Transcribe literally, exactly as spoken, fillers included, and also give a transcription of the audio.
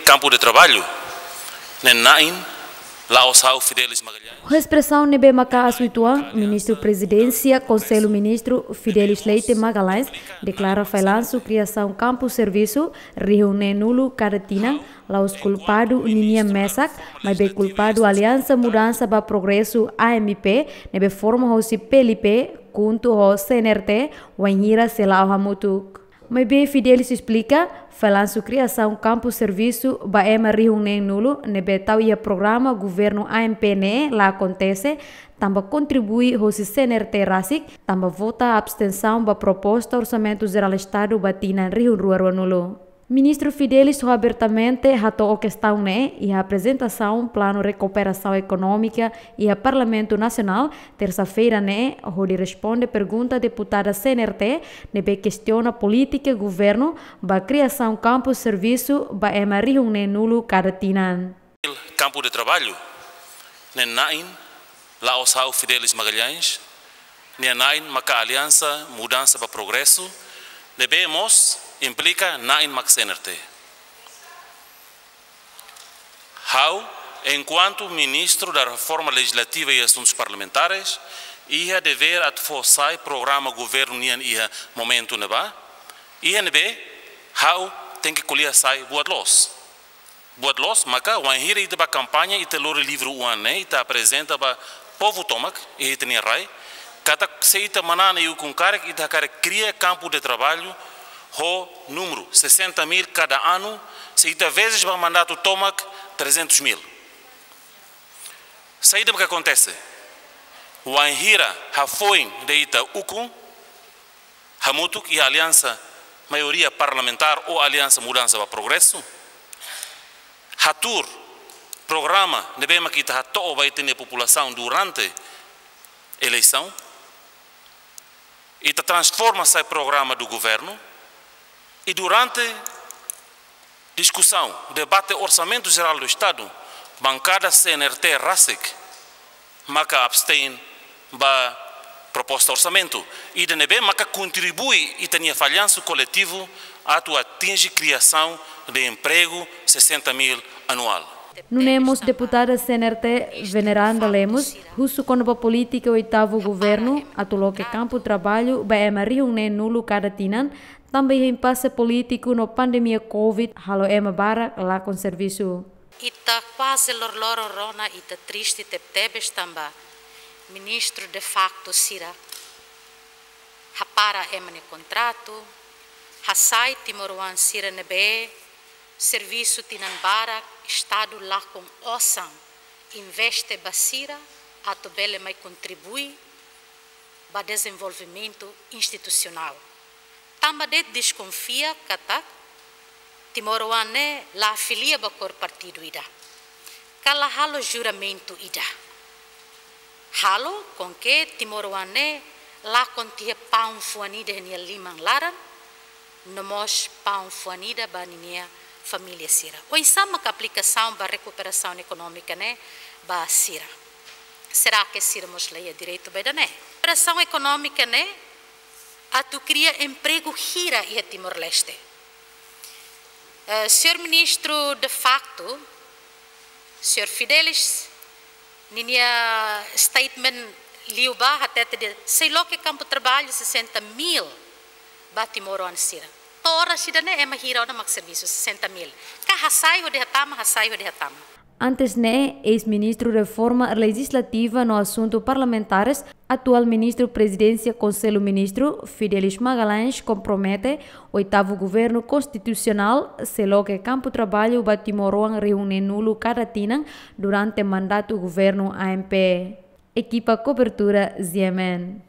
Kampu de traballu ne'e na'in la'ós ha'u Fidelis Magalhães. Ho espresaun ne'ebé maka'as uitoan, Ministru Prezidénsia Konsellu Ministru Fidelis Leite Magalhães deklara fallansu kriasaun kampu servisu rihun neen-nulu kada tinan la'ós kulpadu ninian mesak, maibé kulpadu Aliansa Mudansa ba Progresu, A M P, ne'ebé forma hosi P L P KHUNTO ho C N R T, wainhira sei la'o hamutuk. Maibé Fidelis esplika, fallansu kriasaun kampu servisu ba ema rihun neen-nulu ne'ebé tau iha programa governu A M P ne'e la akontese, tanba kontribui hosi C N R T rasik, tanba vota abstensaun ba proposta Orsamentu Jerál Estadu ba tinan rihun rua rua-nulu. Ministru Fidelis ho abertamente hato'o kestaun ne'e iha aprezentasaun planu rekuperasaun ekonómika iha Parlamentu Nasionál, tersa-feira ne'e, hodi responde pergunta deputada C N R T ne'ebé kestiona polítika governu ba kriasaun kampu servisu ba ema rihun neen-nulu kada tinan. Kampu de traballu ne'e na'in la'ós ha'u Fidelis Magalhães, nia na'in maka Aliansa Mudansa ba Progresu, ne'ebé mós implika na'in mak C N R T. Ha'u, enkuantu Ministru da Reforma Legislativa e Assuntos Parlamentares, iha devér atu fó sai programa governu nian iha momentu ne'ebá, iha ne'ebé ha'u tenke ko'alia sai buat loos. Buat loos, maka wainhira ita bá kampaña, ita lori livru oan ne'e, ita aprezenta ba povu tomak, iha ita-nia rai, katak se ita manán iha ukun karik, ita hakarak kria kampu de traballu ho númeru sessenta mil kada anu, se ita vezes ba mandatu tomak trezentos mil. Saida mak akontese? Wainhira hafoin de'it ukun, hamutuk iha aliansa maioria parlamentár ou Aliansa Mudansa ba Progresu, hatuur programa ne'ebé mak ita hato'o ba ita-nia populasaun durante eleisaun, ita transforma sai programa do governo, i durante diskusaun, debate Orsamentu Jerál do Estadu, bankada C N R T rasik maka abstein ba proposta orsamentu, ida ne'ebé maka kontribui ita-nia fallansu koletivu atu atinje kriasaun de empregu sessenta mil anuál. Nune'e mós deputada C N R T Veneranda Lemos husu kona-ba polítika oitavu governu atu loke kampu traballu ba ema rihun neen-nulu kada tinan, tanba iha impase polítiku no pandemia covid halo ema barak lakon servisu. Ita kuaze loroloron rona, ita triste tebetebes tanba ministru de facto sira hapara ema nia kontratu, hasai timoroan sira ne'ebé servisu tinan barak, Estadu lakon osan investe ba sira atu bele mai kontribui ba dezenvolvimentu institusionál. Tanba de'it deskonfia katak timoroan ne'e la afilia ba kór partidu ida, ka la halo juramentu ida. Halo com que timoroan ne'e lakon tiha paun fuan ida iha nia liman laran, no mós paun fuan ida ba ninia família sira. Oinsá maka aplikasaun ba rekuperasaun ekonómika ne'e ba sira? Será que sira mós la iha direitu ba ida-ne'e? Rekuperasaun ekonómika ne'e atu kria empregu hira iha Timor-Leste? Eh, señór ministru de facto, señór Fidelis, ninia statement liubá hatete dehan sei loke kampu traballu sessenta mil ba timoroan sira. To'o oras ida-ne'e ema hira ona mak servisu? Sessenta mil. Ka hasai hodi hatama, hasai hodi hatama. Antes ne'e, eis-ministru Reforma Lejislativa no Asuntu Parlamentares, atuál ministru Prezidénsia Konsellu Ministru, Fidelis Magalhães, kompromete oitavu governu konstitusionál sei loke kampu traballu ba timoroan rihun neen-nulu kada tinan durante mandatu governu A M P. Ekipa kobertura Z M N.